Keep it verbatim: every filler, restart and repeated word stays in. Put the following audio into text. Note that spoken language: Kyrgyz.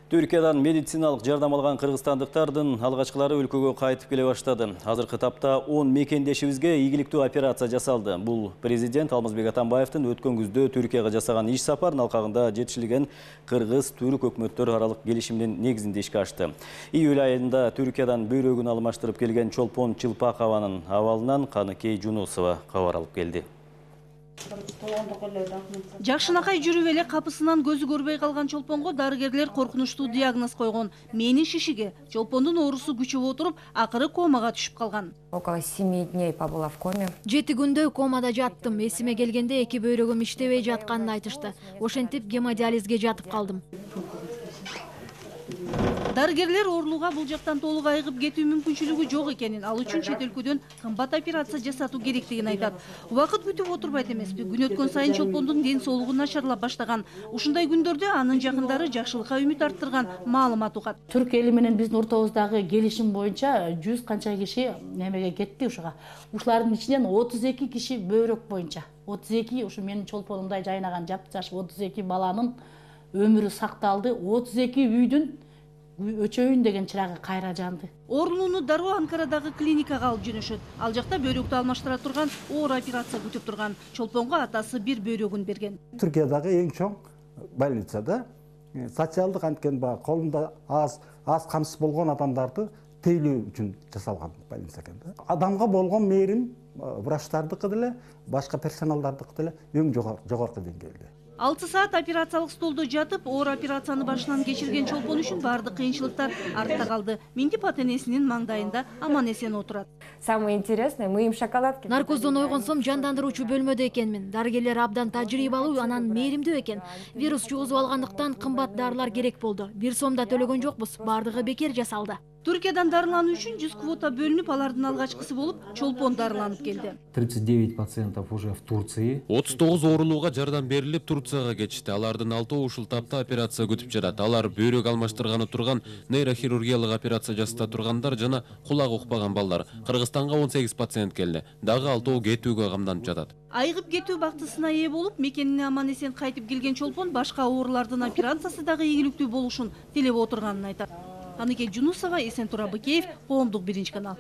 Түркиядан медициналык жардам алган кыргызстандыктардын алгачкылары өлкөгө кайтып келе баштады. Азыркы тапта он мекендешибизге ийгиликтүү операция жасалды. Бул президент Алмазбек Атамбаевдин өткөн күздө Түркияга жасаган иш сапарынын алкагында жетишилген кыргыз-түрк өкмөттөр аралык келишимдин негизинде ишке ашты. Июль айында Түркиядан бөйрөгүн алмаштырып келген Чолпон Чылпакованын абалынан Каныкей Жунусова кабар алып келди. Жакшынакай жүрүп эле капысынан көзү көрбөй калган Чолпонго дарыгерлер коркунучтуу диагноз койгон. Менин шишиге. Чолпондун оорусу күчөп отуруп, акыры комага түшүп калган. Около семи дней побыла в коме. Жети күндө комада жаттым. Эсиме келгенде эки бөйрөгүм иштебей жатканын айтышты. Ошентип гемодиализге жатып калдым. Дарыгерлер оорулууга бул жактан толук айыгып кетүү мүмкүнчүлүгү жок экенин, ал үчүн чет өлкөдөн кымбат операция жасатуу керектигин айтат. Убакыт күтүп отурбайт эмеспи. Күн өткөн сайын Чолпондун ден соолугу начарлап баштаган. Ушундай күндөрдө анын жакындары жакшылыкка үмүт арттырган маалымат угат. Түрк эли менен биздин ортобуздагы келишим боюнча жүз канча киши немеге кетти ушуга. Ушулардын ичинен отуз эки киши бөйрөк боюнча. отуз эки ушу менин Чолпонумдай жайнаган жап-жаш отуз эки баланын өмүрү сакталды. отуз эки үйдүн өчөйүн деген чырагы кайра жанды. Оорулууну дароо Анкарадагы клиникага алып жөнөшөт. Ал жакта бөйрөктү алмаштыра турган оор операция күтүп турган. Чолпонго атасы бир бөйрөгүн берген. Түркиядагы эң чоң больницада социалдык анткени баягы колунда аз аз камсыз болгон адамдарды тейлөө үчүн жасалган больница экен да. Адамга болгон мээрим врачтардыкы деле, башка персоналдардыкы деле эң жогорку деңгээлде. алты саат операциялык столдо жатып, оор операцияны башынан кечирген Чолпон үчүн бардык кыйынчылыктар артта калды. Минтип ата-энесинин маңдайында аман-эсен отурат. Самое интересное, мы им шоколадки. Наркоздон ойгонсом жандандыруучу бөлмөдө экенмин. Дарыгерлер абдан тажрыйбалуу, анан мээримдүү экен. Вирус жугузуп алгандыктан кымбат дарылар керек болду. Бир сом да төлөгөн жокпуз. Бардыгы бекер жасалды. Түркиядан дарылануу үчүн жүз квота бөлүнүп, алардын алгачкысы болуп Чолпон дарыланып келди. тридцать девять пациентов уже в Турции. отуз тогуз оорулууга жардам берилип Турцияга кетишти. Алардын алтоо ушул тапта операция күтүп жатат. Алар бөйрөк алмаштырганы турган, нейрохирургиялык операция жасата тургандар жана кулак укпаган балдар. Кыргызстанга он сегиз пациент келди. Дагы алтоо кетүүгө камданып жатат. Айыгып кетүү бактысына ээ болуп, мекенине аман-эсен кайтып келген Чолпон башка оорулардын операциясы дагы ийгиликтүү болушун тилеп отурганын айтат. Каныкей Жунусова, Эсентура Быкеев, Коомдук биринчи канал.